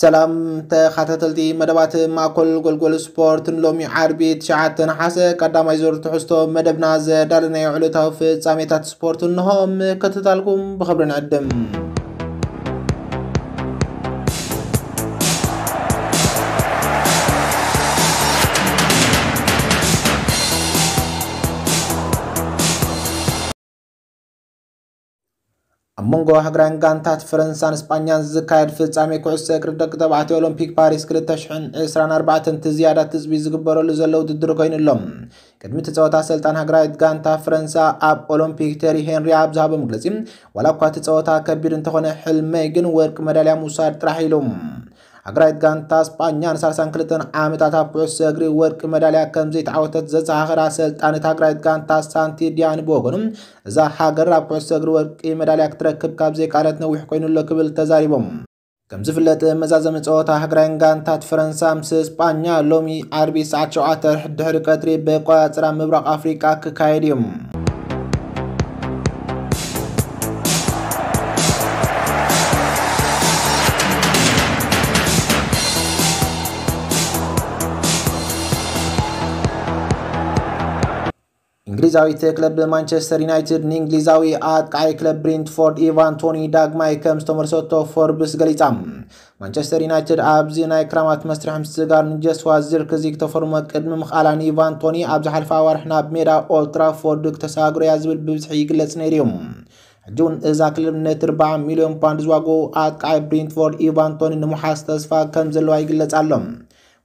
ሰላም ተኸታተልቲ መደባት ማእከል ጎልጎል ስፖርት፣ ንሎሚ ዓርቢ ትሽዓተ ነሓሰ ቀዳማይ ዙር ትሕዝቶ መደብና ዘዳለናዮ ዕለታዊ ፍጻሜታት ስፖርት እንሆ። ምክትታልኩም ብኽብሪ ንዕድም። ኣብ መንጎ ሃገራውያን ጋንታት ፈረንሳን ስጳኛን ዝካየድ ፍጻሜ ኩዕሶ እግሪ ደቂ ተባዕትዮ ኦሎምፒክ ፓሪስ ክልተ ሽሕን ዕስራን ኣርባዕተን እቲ ዝያዳ ትጽቢት ዝግበረሉ ዘሎ ውድድር ኮይኑ ኣሎ። ቅድሚ እቲ ጸወታ ኣሰልጣን ሃገራዊት ጋንታ ፈረንሳ ኣብ ኦሎምፒክ ቴሪ ሄንሪ ኣብ ዝሃቦ መግለጺ፣ ዋላ እኳ እቲ ጸወታ ከቢድ እንተኾነ፣ ሕልመይ ግን ወርቂ መዳልያ ምውሳድ ጥራሕ ኢሉ። ሃገራዊት ጋንታ ስጳኛ ንሳልሳን ክልተን ዓመታት ኣብ ኩዕሶ እግሪ ወርቂ መዳልያ ከም ዘይተዓወተት ዘዘኻኸረ ኣሰልጣኒት ሃገራዊት ጋንታ ሳንቲ ዲያኒ ብወገኑ፣ እዛ ሃገር ኣብ ኩዕሶ እግሪ ወርቂ መዳልያ ክትረክብ ካብ ዘይከኣለት ነዊሕ ኮይኑ ኣሎ ክብል ተዛሪቦም። ከም ዝፍለጥ፣ መዛዘሚ ጸወታ ሃገራውያን ጋንታት ፈረንሳ ምስ ስጳኛ ሎሚ ዓርቢ ሰዓት ሸውዓተ ድሕሪ ቀትሪ ብኣቆጻጽራ ምብራቕ ኣፍሪቃ ክካየድ እዩ። እንግሊዛዊት ክለብ ማንቸስተር ዩናይትድ ንእንግሊዛዊ ኣጥቃዒ ክለብ ብሬንትፎርድ ኢቫን ቶኒ ዳግማይ ከም ዝተመልሰቶ ፎርብስ ገሊጻ። ማንቸስተር ዩናይትድ ኣብዚ ናይ ክራማት መስርሕ ምስጋር ንጀስዋ ዚርክዚ ክተፈርሞ ቅድሚ ምኽኣላ፣ ንኢቫን ቶኒ ኣብ ዝሓለፈ ኣዋርሕ ናብ ሜዳ ኦልትራፎርድ ክተሰጋግሮ እያ ዝብል ብብዝሒ ይግለጽ ነይሩ እዩ። ሕጂ እውን እዛ ክለብ ነቲ ኣርባዓ ሚልዮን ፓውንድ ዝዋግኡ ኣጥቃዒ ብሬንትፎርድ ኢቫን ቶኒ ንምሓዝ ተስፋ ከም ዘለዋ ይግለጽ ኣሎ።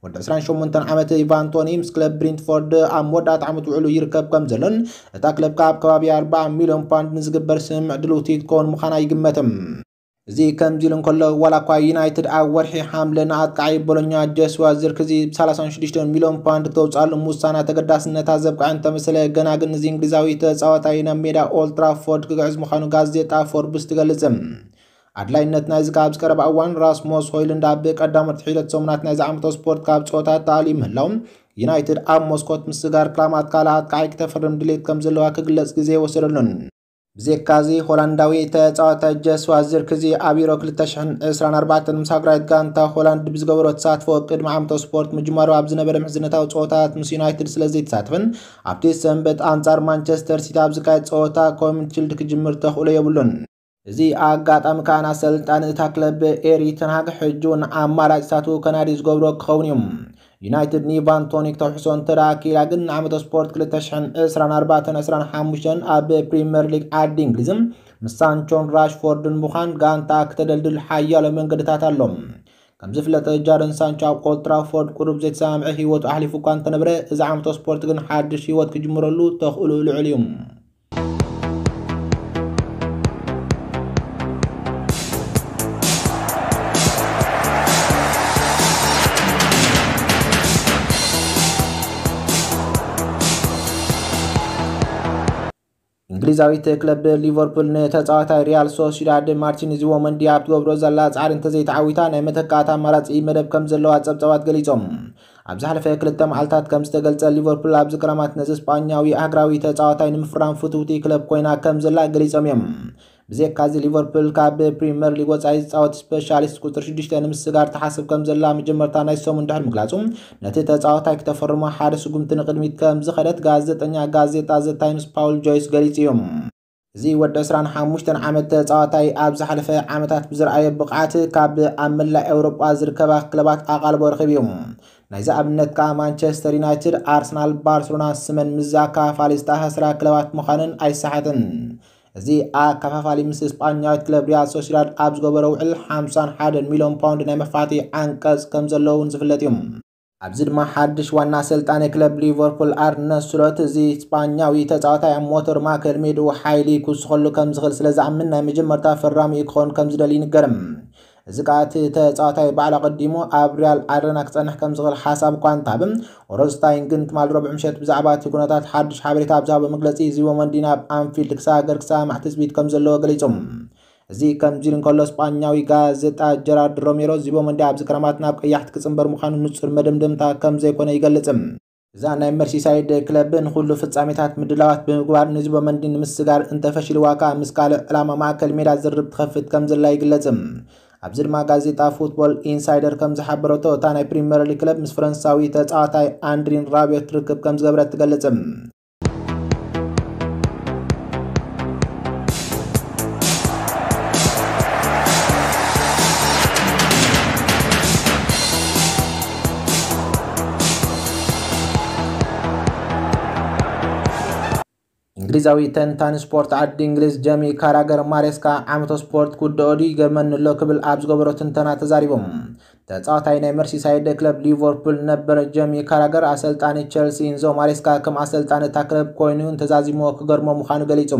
ወዲ ዕስራን ሸሞንተን ዓመት ኢቫን ቶኒ ምስ ክለብ ብሬንትፎርድ ኣብ መወዳእታ ዓመት ውዕሉ ይርከብ ከም ዘሎን፣ እታ ክለብ ከኣ ኣብ ከባቢ ኣርባዓ ሚልዮን ፓውንድ ንዝግበር ስምምዕ ድልውቲ ክትከውን ምዃና ይግመት። እዚ ከምዚ ኢሉ እንከሎ፣ ዋላ እኳ ዩናይትድ ኣብ ወርሒ ሓምለ ንኣጥቃዒ ቦሎኛ ጆስዋ ዚርክዚ ብ ሰላሳን ሽዱሽተን ሚልዮን ፓውንድ ክተውፅኣሉ ምውሳና ተገዳስነታ ዘብቅዐ እንተመሰለ፣ ገና ግን እዚ እንግሊዛዊ ተፃዋታይ ናብ ሜዳ ኦልትራፎርድ ክግዕዝ ምዃኑ ጋዜጣ ፎርብስ ትገልጽ። ኣድላይነት ናይዚ ከኣ ኣብዚ ቀረባ እዋን ራስሞስ ሆይሉንድ ኣብ ቀዳሞት ሒደት ሰሙናት ናይዚ ዓመታዊ ስፖርት ካብ ጸወታ ተኣልዩ ምህላው፣ ዩናይትድ ኣብ ሞስኮት ምስጋር ክራማት ካልእ ኣጥቃዓይ ክተፍርም ድሌት ከም ዘለዋ ክግለጽ ግዜ ኣይወሰደሉን። ብዘይካዚ፣ ሆላንዳዊ ተጻዋታይ ጀስዋ ዚርክዚ ኣብ ዩሮ ክልተ ሽሕን ዕስራን ኣርባዕተን ምስ ሃገራዊት ጋንታ ሆላንድ ብዝገበሮ ተሳትፎ ቅድሚ ዓመታዊ ስፖርት ምጅማሩ ኣብ ዝነበረ ምሕዝነታዊ ጸወታት ምስ ዩናይትድ ስለ ዘይተሳተፈን ኣብቲ ሰንበት ኣንጻር ማንቸስተር ሲቲ ኣብ ዝካየድ ጸወታ ኮሚንስ ሺልድ ክጅምር ተኽእሎ የብሉን። እዚ ኣጋጣሚ ከኣ ንኣሰልጣኒ እታ ክለብ ኤሪ ተን ሃግ ሕጂ እውን ኣማራጺታቱ ከናዲ ዝገብሮ ክኸውን እዩ። ዩናይትድ ንኢቫን ቶኒ ክተውሕሶ እንተ ደኣ ክኢላ ግን ንዓመተ ስፖርት ክልተ ሽሕን ዕስራን ኣርባዕተን ዕስራን ሓሙሽተን ኣብ ፕሪምየር ሊግ ዓዲ እንግሊዝ ምስ ሳንቾን ራሽፎርድን ምዃን ጋንታ ክተደልድል ሓያሎ መንገድታት ኣሎ። ከም ዝፍለጥ ጃደን ሳንቾ ኣብ ኦልትራፎርድ ቁሩብ ዘይተሰማምዐ ህይወቱ ኣሕሊፉ እኳ እንተነበረ እዚ ዓመተ ስፖርት ግን ሓድሽ ህይወት ክጅምረሉ ተኽእሎ ልዑል እዩ። እንግሊዛዊት ክለብ ሊቨርፑል ንተጻዋታይ ሪያል ሶሲዳድ ማርቲን ዙቢመንዲ ኣብ ትገብሮ ዘላ ጻዕሪ እንተዘይተዓዊታ ናይ መተካእታ ኣማራጺ መደብ ከም ዘለዋ ጸብጻባት ገሊጾም። ኣብ ዝሓለፈ ክልተ መዓልታት ከም ዝተገልጸ ሊቨርፑል ኣብዚ ክረማት ነዚ ስጳኛዊ ኣህግራዊ ተጻዋታይ ንምፍራም ፍትውቲ ክለብ ኮይና ከም ዘላ ገሊጾም እዮም። ብዘይካዚ ሊቨርፑል ካብ ፕሪምየር ሊግ ወጻኢ ዝጻወት ስፔሻሊስት ቁጽሪ ሽዱሽተ ንምስጋር ትሓስብ ከም ዘላ መጀመርታ ናይ ሰሙን ድሕሪ ምግላጹ፣ ነቲ ተጻዋታይ ክተፈርሞ ሓደ ስጉምቲ ንቕድሚት ከም ዝኸደት ጋዜጠኛ ጋዜጣ ዘ ታይምስ ፓውል ጆይስ ገሊጹ እዩ። እዚ ወዲ ዕስራን ሓሙሽተን ዓመት ተጻዋታይ ኣብ ዝሓለፈ ዓመታት ብዝረኣዮ ብቕዓት ካብ ኣብ መላእ ኤውሮጳ ዝርከባ ክለባት ኣቓልቦ ረኺቡ እዩ። ናይዚ ኣብነት ከኣ ማንቸስተር ዩናይትድ፣ ኣርሰናል፣ ባርሰሎና ስመን ምስ ኣከፋፋሊ ዝተኣሳሰራ ክለባት ምዃነን ኣይሰሓትን። እዚ ኣከፋፋሊ ምስ ስጳኛዊት ክለብ ሪያል ሶሲዳድ ኣብ ዝገበሮ ውዕል ሓምሳን ሓደን ሚልዮን ፓውንድ ናይ መፋትሒ ዓንቀጽ ከም ዘለዎ እውን ዝፍለጥ እዩ። ኣብዚ ድማ ሓድሽ ዋና ኣሰልጣኒ ክለብ ሊቨርፑል ኣርነ ስሎት፣ እዚ ስጳኛዊ ተጻዋታይ ኣብ ሞተር ማእከል ሜድኡ ሓይሊ ክውስኸሉ ከም ዝኽእል ስለ ዝኣምን ናይ መጀመርታ ፈራሚኡ ክኸውን ከም ዝደሊ ይንገር። እዚ ከኣ እቲ ተጻዋታይ ባዕሉ ኣቐዲሙ ኣብ ሪያል ኣረና ክጸንሕ ከም ዝኽእል ሓሳብ እኳ እንተሃበ፣ ኦረንስታይን ግን ትማሊ ረቡዕ ምሸት ብዛዕባ እቲ ኩነታት ሓድሽ ሓበሬታ ኣብ ዝሃቦ መግለጺ፣ ዙቢመንዲ ናብ ኣንፊልድ ክሰጋገር ክሰማማዕ ትጽቢት ከም ዘለዎ ገሊጹ። እዚ ከምዚ ኢሉ እንከሎ፣ ስጳኛዊ ጋዜጣ ጀራርድ ሮሜሮ፣ ዙቢመንዲ ኣብዚ ክረማት ናብ ቀያሕቲ ክጽንበር ምዃኑ ንጹር መደምደምታ ከም ዘይኮነ ይገልጽ። እዛ ናይ መርሲሳይድ ክለብ ንኹሉ ፍጻሜታት ምድላዋት ብምግባር ንዙቢመንዲ ንምስጋር እንተፈሺልዋ ከኣ ምስ ካልእ ዕላማ ማእከል ሜዳ ዝርርብ ትኸፍት ከም ዘላ ይግለጽ። ኣብዚ ድማ ጋዜጣ ፉትቦል ኢንሳይደር ከም ዝሓበረቶ፣ እታ ናይ ፕሪምየር ሊግ ክለብ ምስ ፈረንሳዊ ተጻዋታይ ኣንድሪን ራቢዮት ርክብ ከም ዝገበረት ትገልጽ። እንግሊዛዊ ተንታኒ ስፖርት ዓዲ እንግሊዝ ጀሚ ካራገር፣ ማሬስካ ዓመተ ስፖርት ክውድኦ ድዩ ይገርመኒ ኣሎ ክብል ኣብ ዝገበሮ ትንተና ተዛሪቦም። ተጻዋታይ ናይ መርሲሳይድ ክለብ ሊቨርፑል ነበር ጀሚ ካራገር፣ ኣሰልጣኒ ቸልሲ ኢንዞ ማሬስካ ከም ኣሰልጣኒ እታ ክለብ ኮይኑ እንተዛዚምዎ ክገርሞ ምዃኑ ገሊጹ።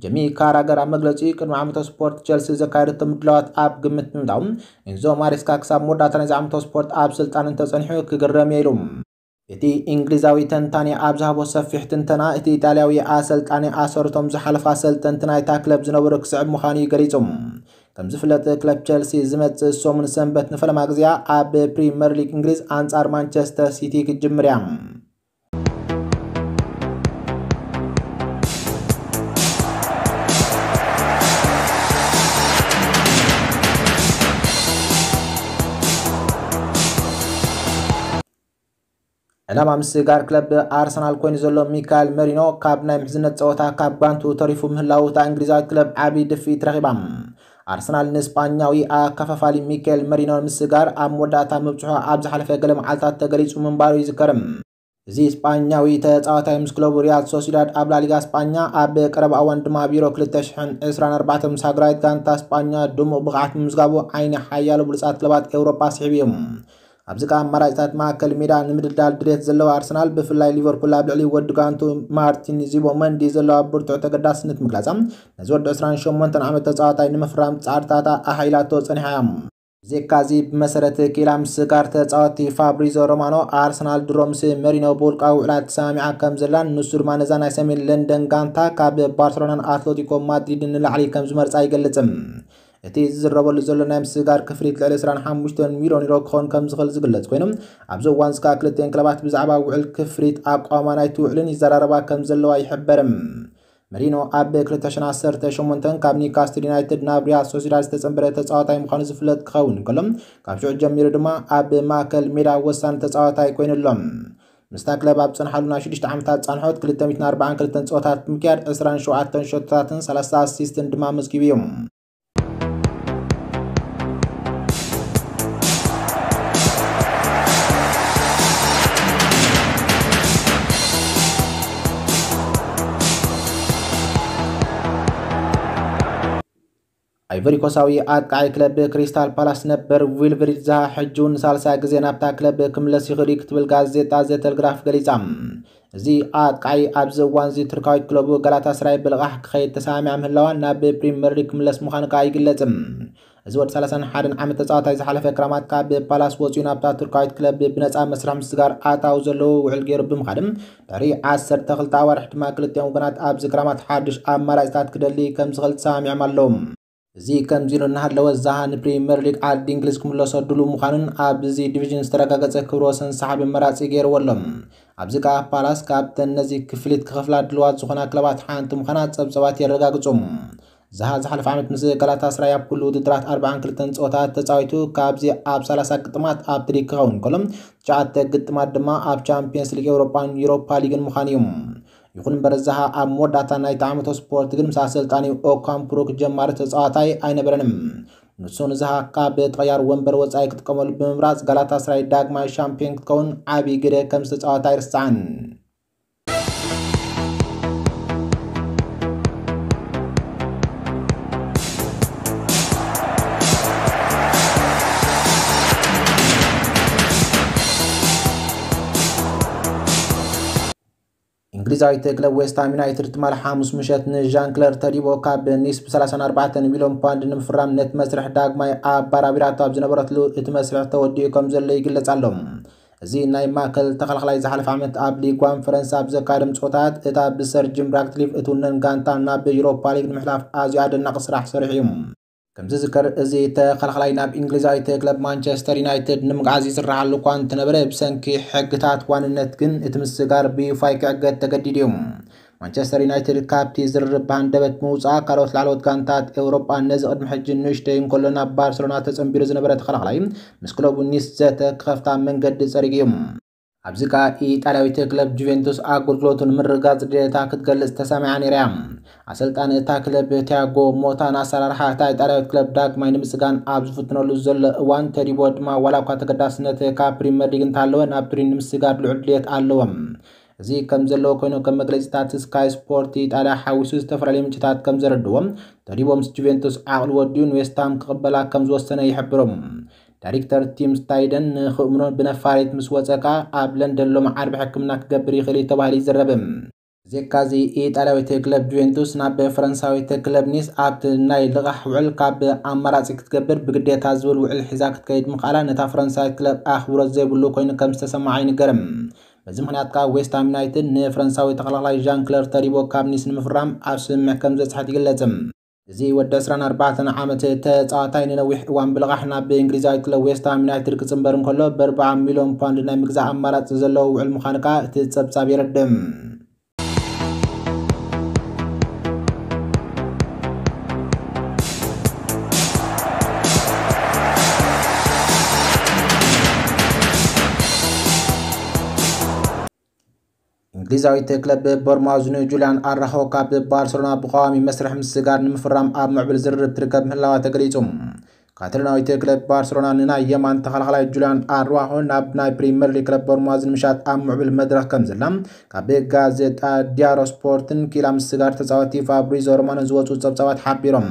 ጀሚ ካራገር ኣብ መግለጺኡ፣ ቅድሚ ዓመተ ስፖርት ቸልሲ ዘካየደቶ ምድላዋት ኣብ ግምት ብምእታው፣ ኢንዞ ማሬስካ ክሳብ መወዳእታ ናይዚ ዓመተ ስፖርት ኣብ ስልጣን እንተጸኒሑ ክግረም እየ ኢሉ። እቲ እንግሊዛዊ ተንታኒ ኣብ ዝሃቦ ሰፊሕ ትንተና፣ እቲ ኢጣልያዊ ኣሰልጣኒ ኣሰርቶም ዝሓለፋ ኣሰልጠንቲ ናይታ ክለብ ዝነበሩ ክስዕብ ምዃኑ እዩ ገሊጹ። ከም ዝፍለጥ፣ ክለብ ቸልሲ ዝመጽእ ሰሙን ሰንበት ንፈለማ ግዜኣ ኣብ ፕሪምየር ሊግ እንግሊዝ ኣንጻር ማንቸስተር ሲቲ ክትጅምር እያ። ዕላማ ምስጋር ክለብ ኣርሰናል ኮይኑ ዘሎ ሚካኤል መሪኖ፣ ካብ ናይ ምሕዝነት ጸወታ ካብ ጓንቱ ተሪፉ ምህላዉ እታ እንግሊዛዊት ክለብ ዓቢ ድፍኢት ረኺባ። ኣርሰናል ንስጳኛዊ ኣከፋፋሊ ሚካኤል መሪኖ ምስጋር ኣብ መወዳእታ ምብጽሖ ኣብ ዝሓለፈ ገለ መዓልታት ተገሊጹ ምንባሩ ይዝከር። እዚ ስጳኛዊ ተጻዋታይ ምስ ክለቡ ሪያል ሶሲዳድ ኣብ ላሊጋ ስጳኛ፣ ኣብ ቀረባ እዋን ድማ ኣብ ዩሮ ክልተ ሽሕን ዕስራን ኣርባዕተን ምስ ሃገራዊት ጋንታ ስጳኛ ድሙቕ ብቕዓት ምምዝጋቡ ዓይኒ ሓያሎ ብሉጻት ክለባት ኤውሮጳ ስሒቡ እዩ። ኣብዚ ከኣ ኣማራጺታት ማእከል ሜዳ ንምድልዳል ድሌት ዘለዎ ኣርሰናል፣ ብፍላይ ሊቨርፑል ኣብ ልዕሊ ወዲ ጋንቱ ማርቲን ዚቦመንዲ ዘለዋ ብርቱዕ ተገዳስነት ምግላጻ፣ ነዚ ወዲ ዕስራን ሸሞንተን ዓመት ተጻዋታይ ንምፍራም ጻዕርታታ ኣሓይላቶ ጸኒሓ እያ። ብዘይካዚ፣ ብመሰረት ኪላ ምስጋር ተጻወቲ ፋብሪዞ ሮማኖ፣ ኣርሰናል ድሮ ምስ መሪኖ ብውልቃዊ ውዕላት ተሰማሚዓ ከም ዘላን ንሱ ድማ ነዛ ናይ ሰሜን ለንደን ጋንታ ካብ ባርሰሎናን ኣትሌቲኮ ማድሪድን ንላዕሊ ከም ዝመርጻ ይገልጽ። እቲ ዝዝረበሉ ዘሎ ናይ ምስጋር ክፍሊት ልዕሊ ዕስራን ሓሙሽተን ሚልዮን ዩሮ ክኸውን ከም ዝኽእል ዝግለጽ ኮይኑ፣ ኣብዚ እዋን እዚ ከኣ ክልቲኤን ክለባት ብዛዕባ ውዕል ክፍሊት ኣቋማ ናይቲ ውዕልን ይዘራረባ ከም ዘለዋ ይሕበር። መሪኖ ኣብ ክልተ ሽሕን ዓሰርተ ሸሞንተን ካብ ኒውካስትል ዩናይትድ ናብ ሪያል ሶሲዳድ ዝተጸንበረ ተጻዋታይ ምዃኑ ዝፍለጥ ክኸውን እንከሎ፣ ካብ ሽዑ ጀሚሩ ድማ ኣብ ማእከል ሜዳ ወሳኒ ተጻዋታይ ኮይኑ ኣሎ። ምስታ ክለብ ኣብ ዝጸንሓሉ ናይ ሽዱሽተ ዓመታት ጻንሖት፣ ክልተ ሚእትን ኣርባዓን ክልተን ጸወታት ብምክያድ፣ ዕስራን ሸውዓተን ሸቶታትን ሰላሳ ኣሲስትን ድማ ኣመዝጊቡ እዩ። ኣይቨሪኮሳዊ ኣጥቃዒ ክለብ ክሪስታል ፓላስ ነበር ዊልፍሪድ ዛሃ ሕጂ እውን ንሳልሳይ ግዜ ናብታ ክለብ ክምለስ ይኽእል እዩ ክትብል ጋዜጣ ዘ ተለግራፍ ገሊጻ። እዚ ኣጥቃዒ ኣብዚ እዋን እዚ ቱርካዊት ክለቡ ጋላታስራይ ብልቓሕ ክኸይድ ተሰማሚዓ ምህላዋ፣ ናብ ፕሪምየር ሊግ ክምለስ ምዃኑ ከኣ ይግለጽ። እዚ ወዲ ሰላሳን ሓደን ዓመት ተጻዋታይ ዝሓለፈ ክረማት ካብ ፓላስ ወጺኡ ናብታ ቱርካዊት ክለብ ብነጻ መስርሕ ምስጋር ኣታዊ ዘለዎ ውዕል ገይሩ ብምኻድ፣ ድሕሪ ዓሰርተ ክልተ ኣዋርሕ ድማ ክልቲኦም ወገናት ኣብዚ ክረማት ሓድሽ ኣማራጺታት ክደሊ ከም ዝኽእል ተሰማሚዖም ኣለዉ። እዚ ከምዚ ኢሉ እናሃለወ፣ ዛሃ ንፕሪምየር ሊግ ዓዲ እንግሊዝ ክምለሰ ድሉው ምዃኑን ኣብዚ ዲቪዥን ዝተረጋገጸ ክብረ ወሰን ሰሓቢ መራጺ ገይርዎ ኣሎ። ኣብዚ ከኣ ፓላስ ካብተን ነዚ ክፍሊት ክኸፍላ ድሉዋት ዝኾና ክለባት ሓንቲ ምዃና ጸብጸባት የረጋግጹ። ዛሃ ዝሓለፈ ዓመት ምስ ጋላታስራይ ኣብ ኩሉ ውድድራት ኣርባዓን ክልተን ጸወታት ተጻዊቱ፣ ካብዚ ኣብ ሰላሳ ግጥማት ኣብ ትሪክ ክኸውን ከሎ፣ ትሽዓተ ግጥማት ድማ ኣብ ቻምፒየንስ ሊግ ኤውሮጳን ዩሮፓ ሊግን ምዃኑ እዩ። ይኹን እምበር፣ ዛሃ ኣብ መወዳእታ ናይቲ ዓመተ ስፖርት ግን ምስ ኣሰልጣኒኡ ኦካምፕሩክ ጀማሪ ተጻዋታይ ኣይነበረን። ንሱ ንዛሃ ካብ ተቐያሪ ወንበር ወጻኢ ክጥቀመሉ ብምምራጽ፣ ጋላታስራይ ዳግማይ ሻምፒዮን ክትከውን ዓቢ ግደ ከም ዝተጻወተ ኣይርሳዕን። እንግሊዛዊት ክለብ ዌስትሃም ዩናይትድ ትማሊ ሓሙስ ምሸት ንዣን ክለር ተዲቦ ካብ ኒስ ብ ሰላሳን ኣርባዕተን ሚልዮን ፓውንድ ንምፍራም ነቲ መስርሕ ዳግማይ ኣባራቢራቶ ኣብ ዝነበረትሉ፣ እቲ መስርሕ ተወዲኡ ከም ዘሎ ይግለጽ ኣሎ። እዚ ናይ ማእከል ተኸላኻላይ ዝሓለፈ ዓመት ኣብ ሊግ ዋን ፈረንሳ ኣብ ዘካየዶም ጸወታት፣ እታ ብሰር ጂም ራትክሊፍ እትውነን ጋንታ ናብ ዩሮፓ ሊግ ንምሕላፍ ኣዝዩ ኣደናቒ ስራሕ ሰሪሑ እዩ። ከም ዝዝከር፣ እዚ ተኸላኻላይ ናብ እንግሊዛዊት ክለብ ማንቸስተር ዩናይትድ ንምግዓዝ ይስርሓሉ እኳ እንተነበረ፣ ብሰንኪ ሕግታት ዋንነት ግን እቲ ምስጋር ብዩፋ ክዕገት ተገዲዱ እዩ። ማንቸስተር ዩናይትድ ካብቲ ዝርርብ ብሃንደበት ምውፃኣ፣ ካልኦት ላዕለዎት ጋንታት ኤውሮጳ ነዚ ቅድሚ ሕጂ ንእሽተይ እንከሎ ናብ ባርሰሎና ተጸንቢሩ ዝነበረ ተኸላኻላይ ምስ ክለቡ ኒስ ዘተ ክኸፍታ መንገዲ ጸሪጉ እዩ። ኣብዚ ከኣ ኢጣልያዊት ክለብ ጁቬንቱስ ኣገልግሎቱ ንምርግጋጽ ድሌታ ክትገልጽ ተሰሚዓ ነይራ እያ። ኣሰልጣኒ እታ ክለብ ቲያጎ ሞታ ንኣሰራርሓ እታ ኢጣልያዊት ክለብ ዳግማይ ንምስጋን ኣብ ዝፍትነሉ ዘሎ እዋን፣ ተዲቦ ድማ ዋላ እኳ ተገዳስነት ካብ ፕሪምየር ሊግ እንተሃለወ፣ ናብ ቱሪን ንምስጋር ልዑል ድሌት ኣለዎ። እዚ ከም ዘለዎ ኮይኑ፣ ከም መግለጺታት ስካይ ስፖርት ኢጣልያ ሓዊሱ ዝተፈላለዩ ምንጭታት ከም ዘረድዎ፣ ተዲቦ ምስ ጁቬንቱስ ዓቕሊ ወዲኡ ንዌስትሃም ክቕበላ ከም ዝወሰነ ይሕብሩ። ዳይሬክተር ቲም ስታይደን ንኽእምኖ ብነፋሪት ምስ ወጸ ከኣ ኣብ ለንደን ሎሚ ዓርቢ ሕክምና ክገብር ይኽእል እዩ ተባሂሉ ይዝረብ። ብዘይካዚ ኢጣልያዊት ክለብ ጁቬንቱስ ናብ ፈረንሳዊት ክለብ ኒስ ኣብቲ ናይ ልቓሕ ውዕል ካብ ኣማራጺ ክትገብር ብግዴታ ዝብል ውዕል ሒዛ ክትከይድ ምኽኣላ ነታ ፈረንሳዊት ክለብ ኣኽብሮት ዘይብሉ ኮይኑ ከም ዝተሰምዓ ይንገር። በዚ ምኽንያት ከኣ ዌስትሃም ዩናይትድ ንፈረንሳዊ ተኸላኻላይ ዣን ክለር ተዲቦ ካብ ኒስ ንምፍራም ኣብ ስምምዕ ከም ዝበጽሐት ይግለጽ። እዚ ወዲ ዕስራን ኣርባዕተን ዓመት ተጻዋታይ ንነዊሕ እዋን ብልቓሕ ናብ እንግሊዛዊት ክለብ ዌስትሃም ዩናይትድ ክጽንበር እንከሎ፣ ብኣርብዓ ሚልዮን ፓውንድ ናይ ምግዛእ ኣማራጺ ዘለዎ ውዕል ምዃኑ ከኣ እቲ ጸብጻብ የረድእ። እንግሊዛዊት ክለብ ቦርማውዝ ንጁልያን ኣራሆ ካብ ባርሰሎና ብቐዋሚ መስርሕ ምስጋር ንምፍራም ኣብ ምዕብል ዝርርብ ትርከብ ምህላዋ ተገሊጹ። ካታሎናዊት ክለብ ባርሰሎና ንናይ የማን ተኸላኻላይ ጁልያን ኣርዋሆ ናብ ናይ ፕሪምየር ሊግ ክለብ ቦርማውዝ ንምሻጥ ኣብ ምዕብል መድረኽ ከም ዘላ ካብ ጋዜጣ ዲያሮ ስፖርትን ኪላ ምስጋር ተጻወቲ ፋብሪዞ ሮማኖ ዝወጹ ጸብጻባት ሓቢሮም።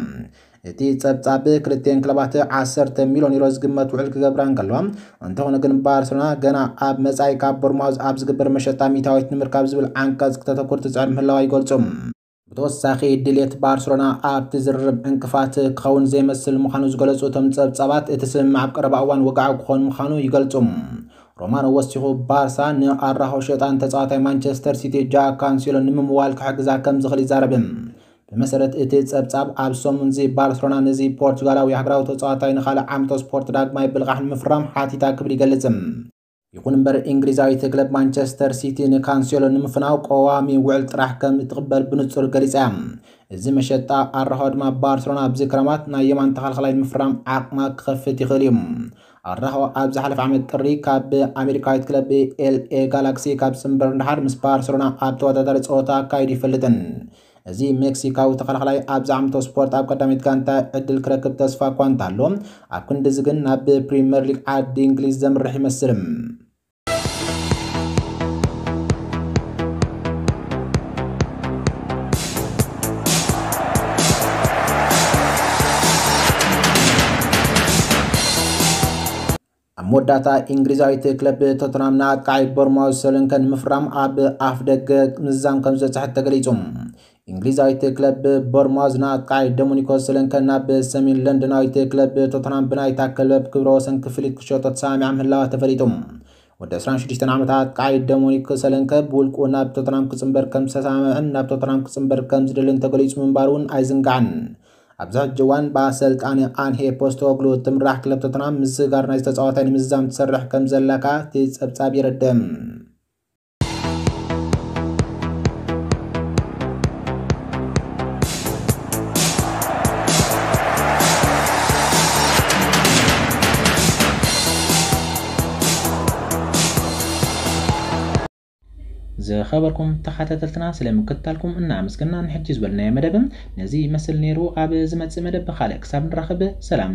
እቲ ጸብጻብ ክልቲኤን ክለባት ዓሰርተ ሚልዮን ዩሮ ዝግመት ውዕል ክገብራ እንከለዋ፣ እንተኾነ ግን ባርሰሎና ገና ኣብ መጻኢ ካብ ቦርማውዝ ኣብ ዝግበር መሸጣ ሚእታዊት ንምርካብ ዝብል ዓንቀጽ ክተተኩር ትጽዕር ምህላዋ ይገልጹ። ብተወሳኺ ድሌት ባርሰሎና ኣብቲ ዝርርብ ዕንቅፋት ክኸውን ዘይመስል ምዃኑ ዝገለጹ እቶም ጸብጻባት፣ እቲ ስምምዕ ኣብ ቀረባ እዋን ወግዓዊ ክኾን ምዃኑ ይገልጹ። ሮማኖ ወሲኹ፣ ባርሳ ንኣራሆ ሸጣን ተጻዋታይ ማንቸስተር ሲቲ ጃክ ካንሴሎ ንምምዋል ክሕግዛ ከም ዝኽእል ይዛረብ። ብመሰረት እቲ ጸብጻብ፣ ኣብ ሰሙንዚ ባርሰሎና ነዚ ፖርቹጋላዊ ሃገራዊ ተጻዋታይ ንኻልእ ዓመተ ስፖርት ዳግማይ ብልቓሕ ንምፍራም ሓቲታ ክብል ይገልጽ። ይኹን እምበር፣ እንግሊዛዊት ክለብ ማንቸስተር ሲቲ ንካንሴሎ ንምፍናው ቀዋሚ ውዕል ጥራሕ ከም እትቕበል ብንጹር ገሊጻ እያ። እዚ መሸጣ ኣራሆ ድማ ባርሰሎና ኣብዚ ክረማት ናይ የማን ተኸላኻላይ ንምፍራም ዓቕማ ክኸፍት ይኽእል እዩ። ኣራሆ ኣብ ዝሓለፈ ዓመት ጥሪ ካብ ኣሜሪካዊት ክለብ ኤልኤ ጋላክሲ ካብ ዝጽንበር ንደሓር ምስ ባርሰሎና ኣብ ተወዳዳሪ ጸወታ ኣካይዱ ይፈልጥን። እዚ ሜክሲካዊ ተኸላኻላይ ኣብዚ ዓመተ ስፖርት ኣብ ቀዳመይቲ ጋንታ ዕድል ክረክብ ተስፋ እኳ እንተሃሎ፣ ኣብ ክንድዚ ግን ናብ ፕሪምየር ሊግ ዓዲ እንግሊዝ ዘምርሕ ይመስል። ኣብ መወዳእታ፣ እንግሊዛዊት ክለብ ቶተንሃም ንኣጥቃዓይ ቦርማውዝ ሶለንከ ንምፍራም ኣብ ኣፍ ደገ ምዝዛም ከም ዝበጽሐት ተገሊጹ። እንግሊዛዊት ክለብ ቦርማውዝ ንኣጥቃዓይ ዶሚኒኮ ሶለንከ ናብ ሰሜን ለንደናዊት ክለብ ቶተንሃም ብናይታ ክለብ ክብረ ወሰን ክፍሊት ክሸጦ ተሰማሚዓ ምህላዋ ተፈሊጡ። ወዲ ዕስራን ሽዱሽተን ዓመት ኣጥቃዓይ ዶሚኒክ ሶለንከ ብውልቁ ናብ ቶተንሃም ክጽንበር ከም ዝተሰማምዐን ናብ ቶተንሃም ክጽንበር ከም ዝደልን ተገሊጹ ምንባሩ እውን ኣይዝንጋዕን። ኣብዚ ሕጂ እዋን ብኣሰልጣኒ ኣንሄ ፖስቶግሉ እትምራሕ ክለብ ቶተንሃም ምስጋር ናይዚ ተጻዋታይ ንምዝዛም ትሰርሕ ከም ዘላ ከኣ እቲ ጸብጻብ የረድእ። ዝኸበርኩም ተኸታተልትና፣ ስለ ምክትታልኩም እናኣመስገና፣ ንሕጂ ዝበልናዮ መደብ ነዚ ይመስል ነይሩ። ኣብ ዝመጽእ መደብ ብኻልእ ክሳብ ንራኸብ፣ ሰላም።